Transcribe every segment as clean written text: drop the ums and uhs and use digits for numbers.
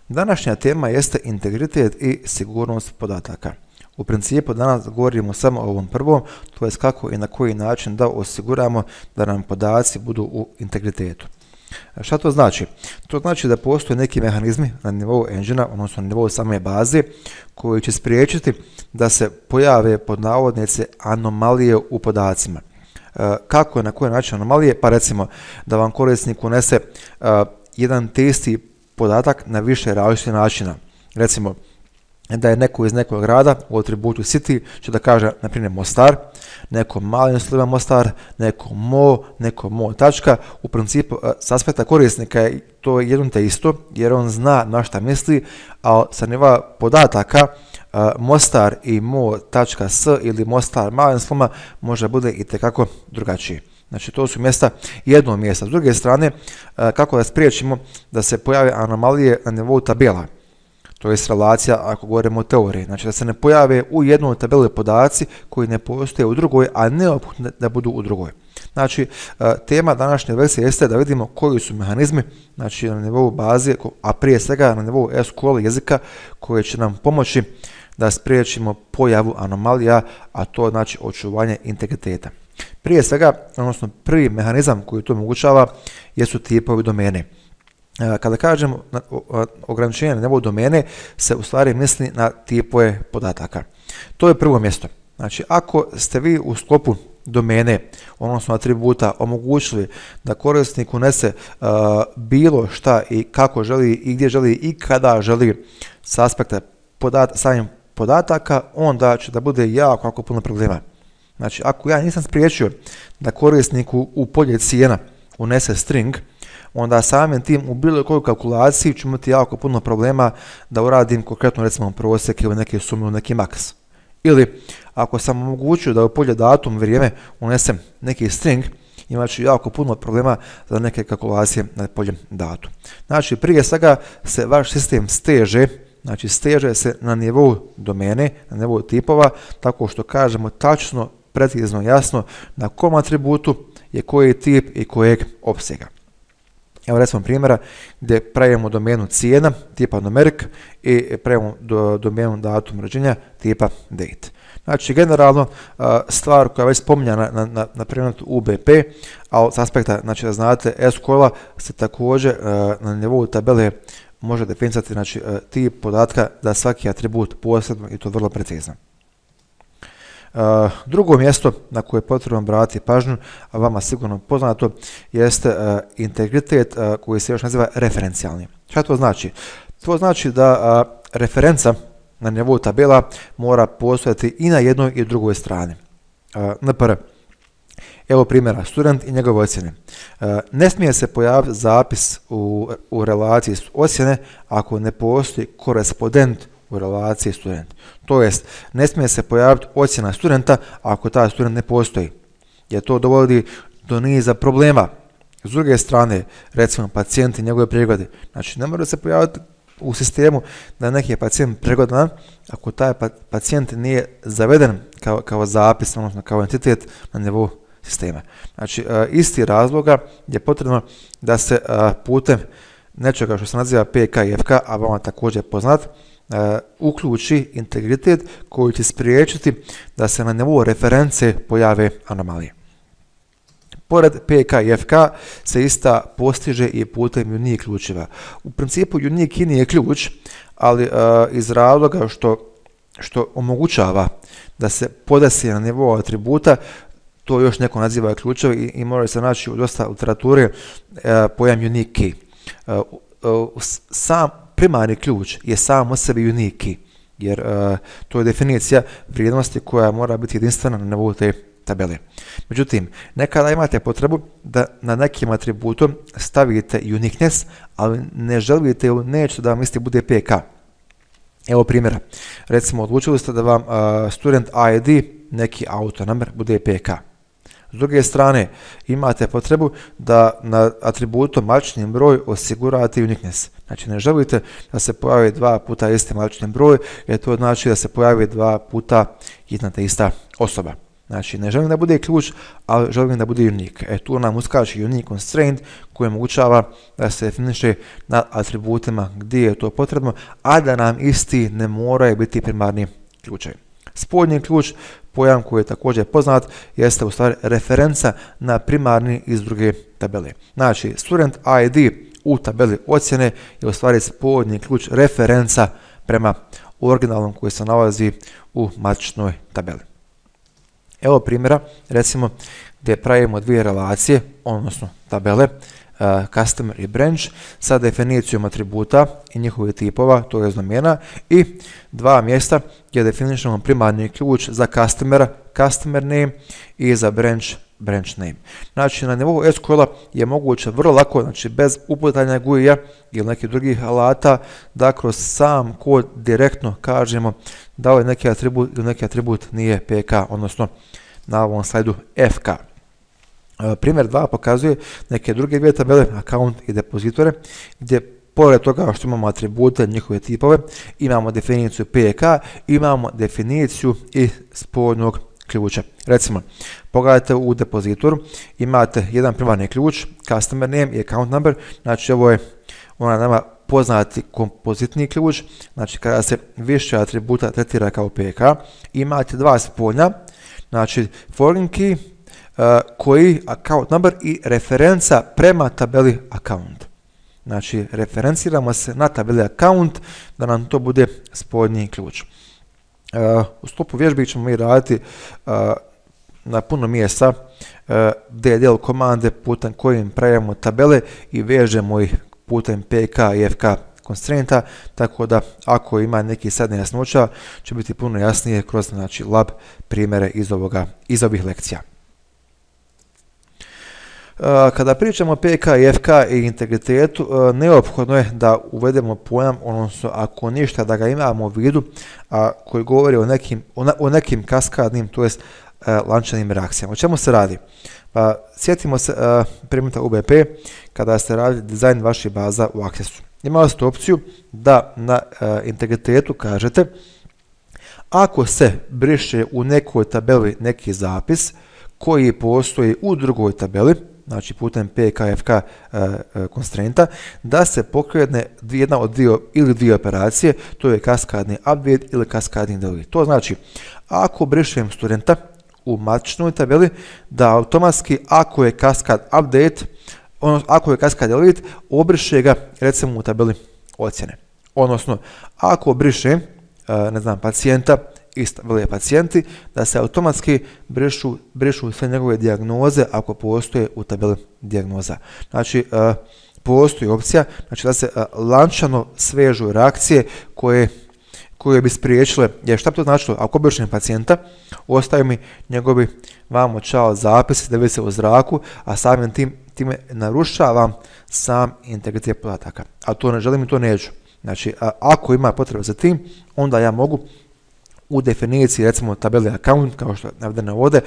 Današnja tema jeste integritet i sigurnost podataka. U principu danas govorimo samo o ovom prvom, to je kako i na koji način da osiguramo da nam podaci budu u integritetu. Šta to znači? To znači da postoje neki mehanizmi na nivou engine-a, odnosno na nivou same baze, koji će spriječiti da se pojave pod navodnice anomalije u podacima. Kako i na koji način anomalije? Pa recimo da vam korisnik unese jedan te isti podatak na više različitih načina. Recimo da je neko iz nekog grada u atributu city će da kaže na primjer Mostar, neko malim slovima Mostar, neko mo tačka. U principu s aspekta korisnika je to jedno te isto jer on zna na šta misli, a sa nivoa podataka Mostar i mo.s ili Mostar malim slovima može bude i tekako drugačije. Znači to su mjesta, jedno mjesta. S druge strane, kako da spriječimo da se pojave anomalije na nivou tabela, to je relacija ako govorimo o teoriji, znači da se ne pojave u jednoj tabeli podaci koji ne postoje u drugoj, a neophodno da budu u drugoj. Znači, tema današnje versije jeste da vidimo koji su mehanizmi, znači na nivou baze, a prije svega na nivou SQL jezika, koji će nam pomoći da spriječimo pojavu anomalija, a to znači očuvanje integriteta. Prije svega, odnosno prvi mehanizam koji to omogućava jesu tipovi domene. Kada kažemo ograničenje na nivou domene, se u stvari misli na tipove podataka. To je prvo mjesto. Znači, ako ste vi u sklopu domene, odnosno atributa, omogućili da korisnik unese bilo šta i kako želi i gdje želi i kada želi s aspekta samih podataka, onda će da bude jako puno problema. Znači, ako ja nisam spriječio da korisniku u polje cijena unese string, onda samim tim u bilo kojoj kalkulaciji ću imati jako puno problema da uradim konkretno recimo prosjek ili neke sume u neki maks. Ili ako sam omogućio da u polje datum vrijeme unesem neki string, imat ću jako puno problema za neke kalkulacije na polje datum. Znači prije svega se vaš sistem steže, znači steže se na nivou domene, na nivou tipova, tako što kažemo tačno, precizno, jasno na kom atributu je koji tip i kojeg opsega. Evo recimo primjera gdje pravimo domenu cijena tipa numeric i pravimo domenu datum rođenja tipa date. Znači generalno stvar koja je već spominjana na primjer UBP, a s aspekta znači da znate SQL-a se također na nivou tabele može definisati znači tip podatka za svaki atribut posebno i to vrlo precizno. Drugo mjesto na koje je potrebno obratiti pažnju, a vama sigurno poznato, jeste integritet koji se još naziva referencijalni. Šta to znači? To znači da referenca na nivou tabela mora postojati i na jednoj i drugoj strani. Npr. Evo primjera, student i njegove ocjene. Ne smije se pojaviti zapis u relaciji ocjene ako ne postoji korespondent u relaciji student. To jest, ne smije se pojaviti ocjena studenta ako taj student ne postoji, jer to dovodi do niza problema. S druge strane, recimo pacijenti i njegove preglede. Znači, ne mora se pojaviti u sistemu da neki je pacijent pregledan ako taj pacijent nije zaveden kao zapis, odnosno kao entitet na nivou sistema. Znači, isti razloga je potrebno da se putem nečega što se naziva PK i FK, a vama također poznat, uključi integritet koji će spriječiti da se na nivou reference pojave anomalije. Pored PK i FK se ista postiže i putem unique ključeva. U principu unique nije ključ, ali iz razloga što omogućava da se podesi na nivou atributa, to još neko naziva ključev i može se naći u dosta literature pojam unique key. Sam primarni ključ je sam u sebi unique key, jer to je definicija vrijednosti koja mora biti jedinstvena na nivou te tabele. Međutim, nekada imate potrebu da na nekim atributom stavite uniqueness, ali ne želite ili nećete da vam isti bude PK. Evo primjera. Recimo, odlučili ste da vam student ID, neki auto number, bude PK. S druge strane, imate potrebu da na atributu matični broj osigurate uniqueness. Znači, ne želite da se pojavi dva puta isti matični broj, jer to znači da se pojavi dva puta jedna te ista osoba. Znači, ne želim da bude ključ, ali želim da bude unique. Tu nam uskače unique constraint koji omogućava da se definiše nad atributima gdje je to potrebno, a da nam isti ne moraju biti primarni ključevi. Spodnji ključ, pojam koji je također poznat, jeste u stvari referenca na primarni iz druge tabele. Znači, student ID u tabeli ocjene je u stvari spodnji ključ referenca prema originalnom koji se nalazi u matičnoj tabeli. Evo primjera, recimo, gdje pravimo dvije relacije, odnosno tabele, customer i branch, sa definicijom atributa i njihovih tipova, to je domena, i dva mjesta gdje definišemo primarni ključ za customera, customer name, i za branch name. Znači, na nivou SQL-a je moguće vrlo lako, znači bez uputanja GUI-a ili nekih drugih alata, da kroz sam kod direktno kažemo da ovaj neki atribut ili neki atribut nije PK, odnosno na ovom slajdu FK. Primjer 2 pokazuje neke druge dvije tabele, account i depozitore, gdje pored toga što imamo atribute, njihove tipove, imamo definiciju PK, imamo definiciju i spodnjog ključa. Recimo, pogledajte u depozitoru, imate jedan primarni ključ, customer name i account number, znači ovo je nama poznati kompozitni ključ, znači kada se više atributa tretira kao PK, imate dva spoljna, znači foreign key, koji account number i referenca prema tabeli account. Znači, referenciramo se na tabeli account da nam to bude spodnji ključ. U sklopu vježbi ćemo mi raditi na puno mjesta DDL komande putem kojim pravimo tabele i vežemo ih putem PK i FK constrainta, tako da ako ima neki sad nejasnoća će biti puno jasnije kroz znači, lab primjere iz ovih lekcija. Kada pričamo o PK i FK i integritetu, neophodno je da uvedemo pojam, odnosno ako ništa da ga imamo u vidu, koji govori o nekim kaskadnim, to jest lančanim reakcijama. O čemu se radi? Pa, sjetimo se primjera UBP kada ste radili dizajn vaših baza u Accessu. Imali ste opciju da na integritetu kažete ako se briše u nekoj tabeli neki zapis koji postoji u drugoj tabeli, znači putem PKFK constrainta, da se pokrene jedna od dvije operacije, to je kaskadni update ili kaskadni delete. To znači, ako brišem studenta u matičnoj tabeli, da automatski ako je kaskad update, odnosno ako je kaskad delete, obriše ga recimo u tabeli ocjene. Odnosno, ako brišem, ne znam, pacijenta iz tabele pacijenti, da se automatski brišu sve njegove dijagnoze ako postoje u tabeli dijagnoza. Znači, postoji opcija znači da se lančano svežu reakcije koje bi spriječile, jer šta bi to značilo? Ako brišem pacijenta, ostaju mi njegovi vamo čao zapisi da vise u zraku, a samim time narušavam sam integritet podataka. A to ne želim i to neću. Znači, ako ima potrebe za tim, onda ja mogu u definiciji, recimo tabeli account, kao što je navedeno ovdje,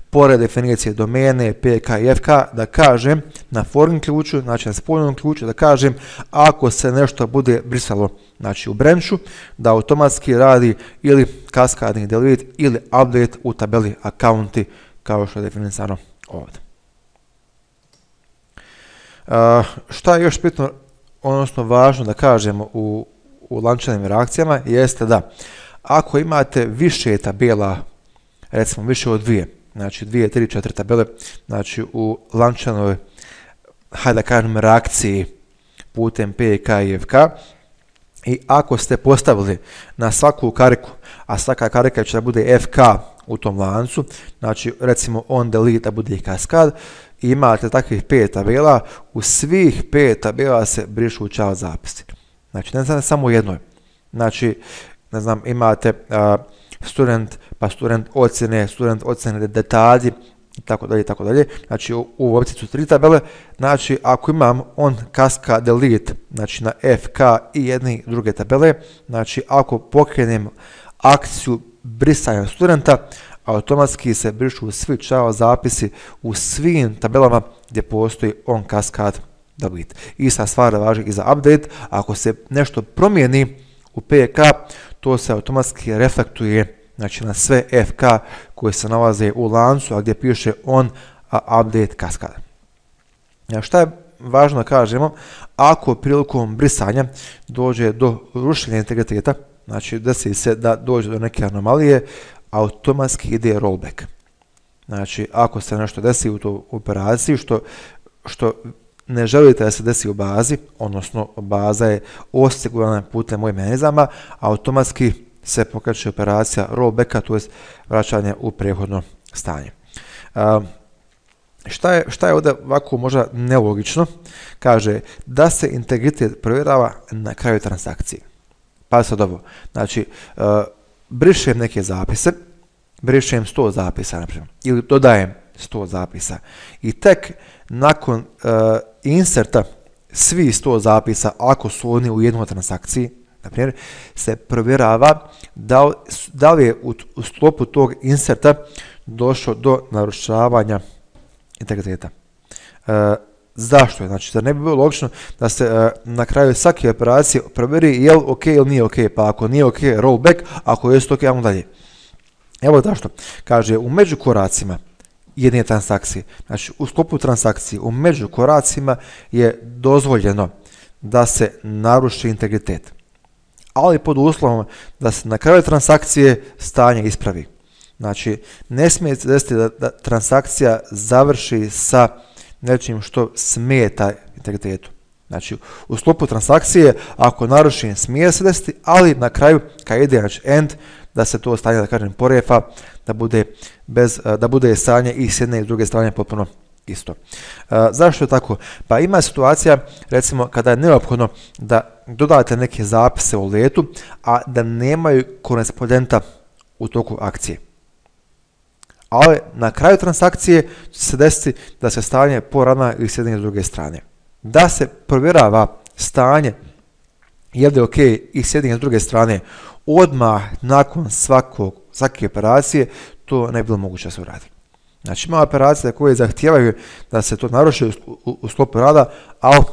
pored definicije domene, PK i FK, da kažem na foreign ključu, znači na spoljnom ključu, da kažem ako se nešto bude brisalo znači u branchu, da automatski radi ili kaskadni delete ili update u tabeli accounti, kao što je definisano ovdje. Šta je još bitno, odnosno važno da kažemo u lančanim reakcijama, jeste da ako imate više tabela, recimo više od dvije, znači 2, 3, 4 tabele, znači u lančanoj, hajde da kažem, reakciji putem PK i FK, i ako ste postavili na svaku kariku, a svaka karika će da bude FK u tom lancu, znači recimo on delete da bude kaskad, i imate takvih 5 tabela, u svih 5 tabela se brišu čao zapisi. Znači ne samo jednoj. Znači, ne znam, imate student, pa student ocjene detalji, i tako dalje. Znači, u opciji su 3 tabele. Znači, ako imam on kaskad delete, znači na FK i jedne i druge tabele, znači, ako pokrenem akciju brisanja studenta, automatski se brišu svi čao zapisi u svim tabelama gdje postoji on kaskad delete. Ista stvar važi i za update. Ako se nešto promijeni u PK, to se automatski reflektuje znači na sve FK koje se nalaze u lancu, a gdje piše on update cascade. Šta je važno da kažemo, ako prilikom brisanja dođe do rušenja integriteta, znači desi se da dođe do neke anomalije, automatski ide rollback. Znači, ako se nešto desi u toj operaciji, što ne želite da se desi u bazi, odnosno baza je osigurana putem ovih mehanizama, automatski se pokreće operacija rollbacka, to je vraćanje u prethodno stanje. Šta je ovdje ovako možda nelogično? Kaže da se integritet provjerava na kraju transakcije. Pa sad ovo, znači brišem neke zapise, brišem 100 zapisa, naprimjer, ili dodajem 100 zapisa i tek nakon inserta svi 100 zapisa, ako su oni u jednoj transakciji, naprimjer, se provjerava da li je u sklopu tog inserta došlo do narušavanja integriteta. Zašto je? Znači, da ne bi bilo logično da se na kraju svake operacije provjeri je li ok ili nije ok, pa ako nije ok, rollback, ako je ok, ajmo dalje. Evo zašto. Kaže, u međukoracima jedne transakcije, znači u sklopu transakcije, u međukoracima je dozvoljeno da se naruši integritet, ali pod uslovom da se na kraju transakcije stanje ispravi. Znači, ne smije se desiti da transakcija završi sa nečim što smeta integritetu. Znači, u sklopu transakcije, ako narušen, smije se desiti, ali na kraju, kad ide znači end, da se to stanje, da kažem, porefa, da bude stanje i s jedne i s druge strane potpuno isto. Zašto je tako? Pa ima situacija, recimo, kada je neophodno da dodate neke zapise u letu, a da nemaju korespondenta u toku akcije. Ali na kraju transakcije će se desiti da se stanje poravna i s jedne i s druge strane. Da se provjerava stanje je li ok i s jedne i s druge strane odmah nakon svake operacije, to ne bi bilo moguće da se uradi. Znači, ima operacije koje zahtijevaju da se to naruši u sklopu rada, ali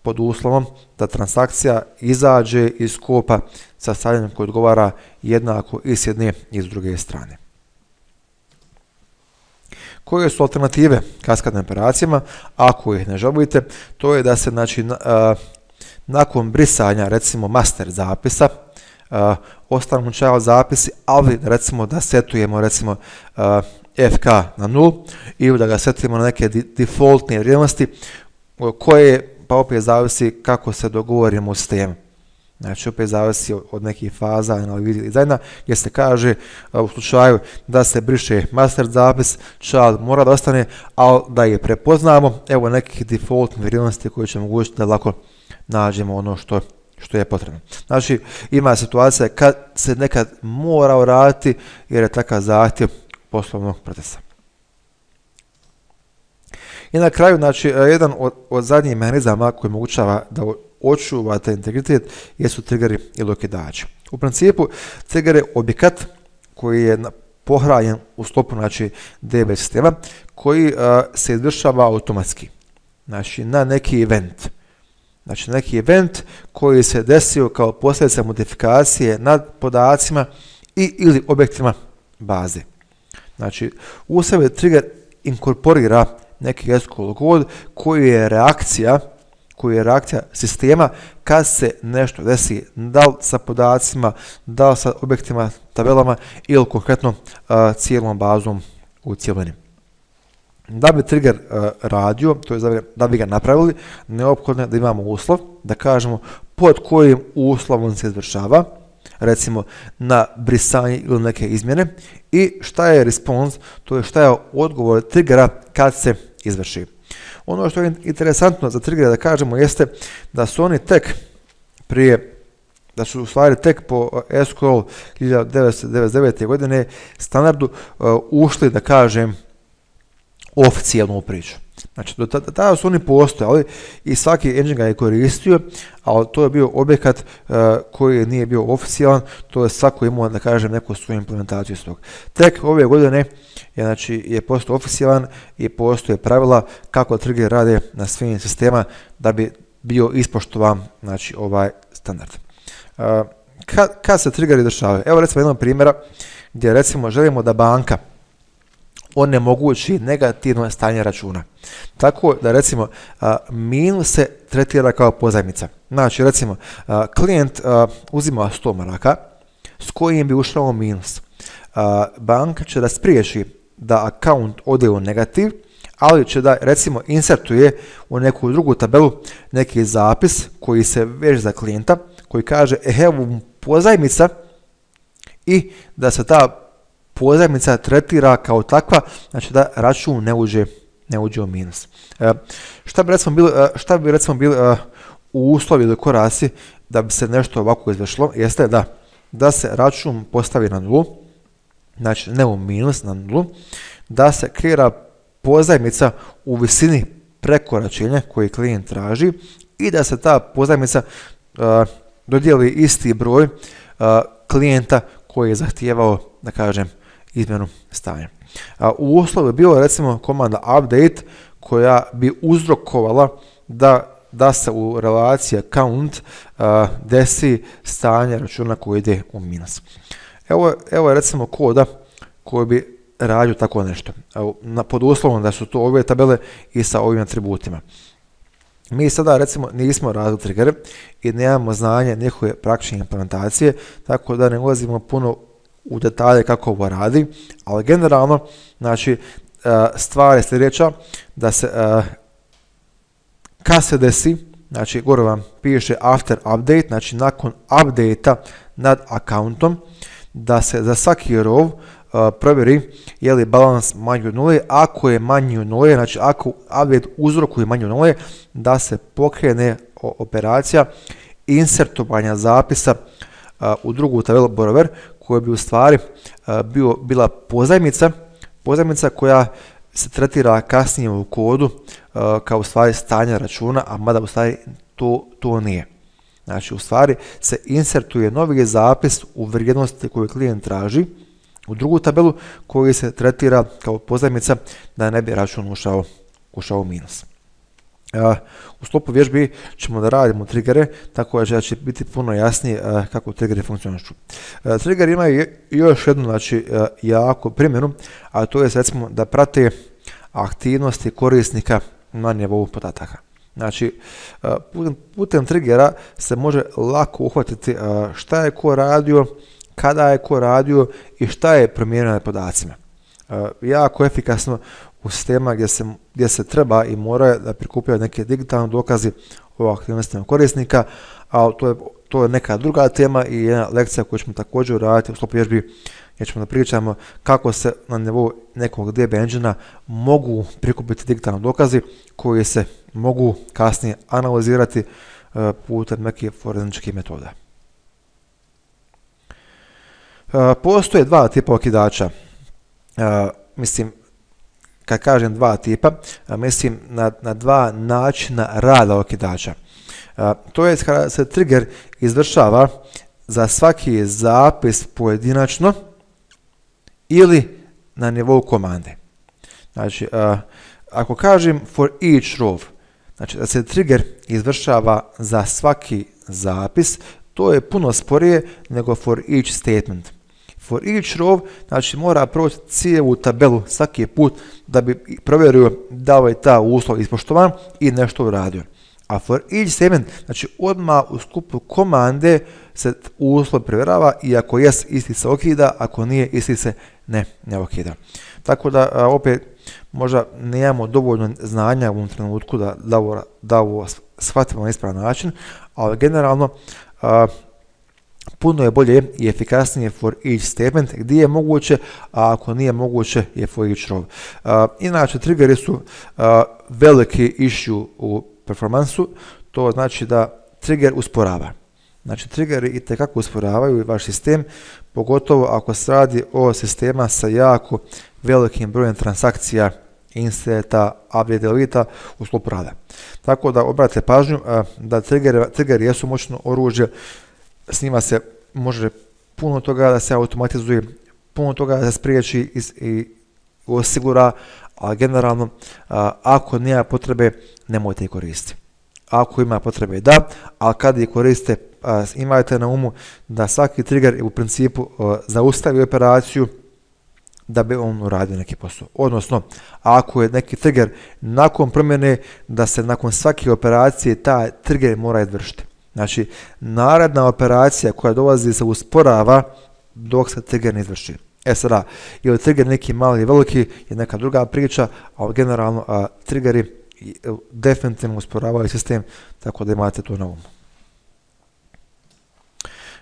pod uslovom da transakcija izađe iz skopa sa stanjem koji odgovara jednako i s jedne i s druge strane. Koje su alternative kaskadnim operacijama? Ako ih ne želite, to je da se znači, nakon brisanja recimo master zapisa ostanu child zapisi, ali recimo da setujemo recimo FK na 0 ili da ga setujemo na neke defaultne vrijednosti koje pa opet zavisi kako se dogovorimo u sistemu. Znači opet zavisi od nekih faza analize dizajna gdje se kaže u slučaju da se briše master zapis, child mora da ostane, ali da je prepoznamo, evo nekih defaultnih vrijednosti koje će omogućiti da lako nađemo ono što je potrebno. Znači ima situacija kad se nekad mora uraditi jer je takav zahtjev poslovnog procesa. I na kraju, znači, jedan od zadnjih mehanizama koji omogućava da očuvate integritet jesu triggeri ili okidači. U principu, trigger je objekat koji je pohranjen u sklopu znači, DB sistema koji se izvršava automatski, znači na neki event. Znači neki event koji se desio kao posljedica modifikacije nad podacima ili objektima baze. Znači u sebe trigger inkorporira neki SQL kod koji je reakcija sistema kad se nešto desi, da li sa podacima, da li sa objektima, tabelama ili konkretno cijelom bazom u cjelini. Da bi trigger radio, to je da bi ga napravili, neophodno je da imamo uslov, da kažemo pod kojim uslovom se izvršava, recimo na brisanje ili neke izmjene, i šta je response, to je šta je odgovor triggera kad se izvrši. Ono što je interesantno za triggere da kažemo jeste da su oni da su u stvari tek po SQL 1999. godine standardu ušli, da kažem, oficijalnu priču. Znači, do tada su oni postojali i svaki engine ga je koristio, ali to je bio objekat koji nije bio oficijalan, to je svako imao, da kažem, neku svoju implementaciju iz toga. Tek ove godine je postao oficijalan i postoje pravila kako trigger rade na svim sistemama da bi bio ispoštovan, znači, ovaj standard. kad se triggeri dešavaju? Evo recimo jednog primjera gdje recimo želimo da banka onemogući negativno stanje računa. Tako da recimo minus se tretira kao pozajmica. Znači recimo klijent uzima 100 maraka s kojim bi ušao u minus. Banka će da spriječi da akaunt ode u negativ, ali će da recimo insertuje u neku drugu tabelu neki zapis koji se veže za klijenta, koji kaže evo pozajmica i da se ta pozajmica tretira kao takva, znači da račun ne uđe u minus. Šta bi recimo bili uslovi ili koraci da bi se nešto ovako izvršilo? Jeste da se račun postavi na nulu, znači ne u minus, na nulu, da se kreira pozajmica u visini prekoračenja koji klijent traži i da se ta pozajmica dodijeli isti broj klijenta koji je zahtijevao, da kažem, izmjenu stanja. U uslovu je bilo recimo komanda update koja bi uzrokovala da se u relaciji account desi stanje računa koji ide u minus. Evo je recimo koda koji bi radio tako nešto. Pod uslovom da su to ove tabele i sa ovim atributima. Mi sada recimo nismo radili triggere i nemamo znanje njihove praktične implementacije, tako da ne ulazimo puno u detalje kako ovo radi, ali generalno, znači, stvar je sljedeća, da se kad se desi, znači gore vam piše after update, znači nakon update-a nad accountom, da se za svaki row provjeri je li balans manji od nule. Ako je manji od nule, znači ako update uzrokuje manji od nule, da se pokrene operacija insertovanja zapisa u drugu tabelu borrower, koja bi u stvari bila pozajmica koja se tretira kasnije u kodu kao u stvari stanje računa, a mada u stvari to nije. Znači u stvari se insertuje novi zapis u vrijednosti koju klijent traži u drugu tabelu koji se tretira kao pozajmica da ne bi račun ušao u minus. U sklopu vježbi ćemo da radimo triggere, tako da će biti puno jasnije kako triggeri funkcionišu. Triggeri imaju još jednu, znači, jako primjenu, a to je recimo da prate aktivnosti korisnika na nivou podataka. Znači, putem triggera se može lako uhvatiti šta je ko radio, kada je ko radio i šta je promijenio na podacima. Jako efikasno u sistema gdje se treba i mora da prikupljaju neke digitalne dokazi o aktivnostima korisnika, a to je neka druga tema i jedna lekcija koju ćemo također raditi u sklopu vježbi, gdje ćemo da pričamo kako se na nivou nekog DB engine-a mogu prikupiti digitalni dokazi koji se mogu kasnije analizirati putem nekih forenzičkih metoda. Postoje dva tipa okidača. Mislim, kad kažem dva tipa, mislim na dva načina rada okidača. To je kada se trigger izvršava za svaki zapis pojedinačno ili na nivou komande. Znači, ako kažem for each row, znači da se trigger izvršava za svaki zapis, to je puno sporije nego for each statement. For each row, znači mora proći cijelu tabelu svaki put da bi provjerio da li je ta uslov ispoštovan i nešto uradio. A for each statement, znači odmah u sklopu komande se uslov provjerava i ako jest, isti se okida, ako nije, isti se ne okida. Tako da opet možda nemamo dovoljno znanja u ovom trenutku da ovo shvatimo na ispravan način, ali generalno puno je bolje i efikasnije for each statement gdje je moguće, a ako nije moguće je for each row. Inače, triggeri su veliki issue u performansu, to znači da trigger usporava. Znači, triggeri itekako usporavaju vaš sistem, pogotovo ako se radi o sistema sa jako velikim brojem transakcija, inseta, update, delete u sklopu rada. Tako da obratite pažnju da triggeri jesu moćno oružje, s njima se može puno toga da se automatizuje, puno toga da se spriječi i osigura, a generalno ako nema potrebe nemojte ih koristiti. ako ima potrebe da, ali kad ih koriste, imajte na umu da svaki trigger u principu zaustavi operaciju da bi on uradio neki posao. Odnosno, ako je neki trigger nakon promjene, da se nakon svake operacije taj trigger mora izvršiti. Znači, naredna operacija koja dolazi se usporava dok se trigger ne izvrši. Sada, ili trigger neki mali i veliki je neka druga priča, ali generalno triggeri definitivno usporavaju sistem, tako da imate to na umu.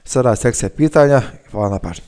Sada sekcija pitanja. Hvala na pažnji.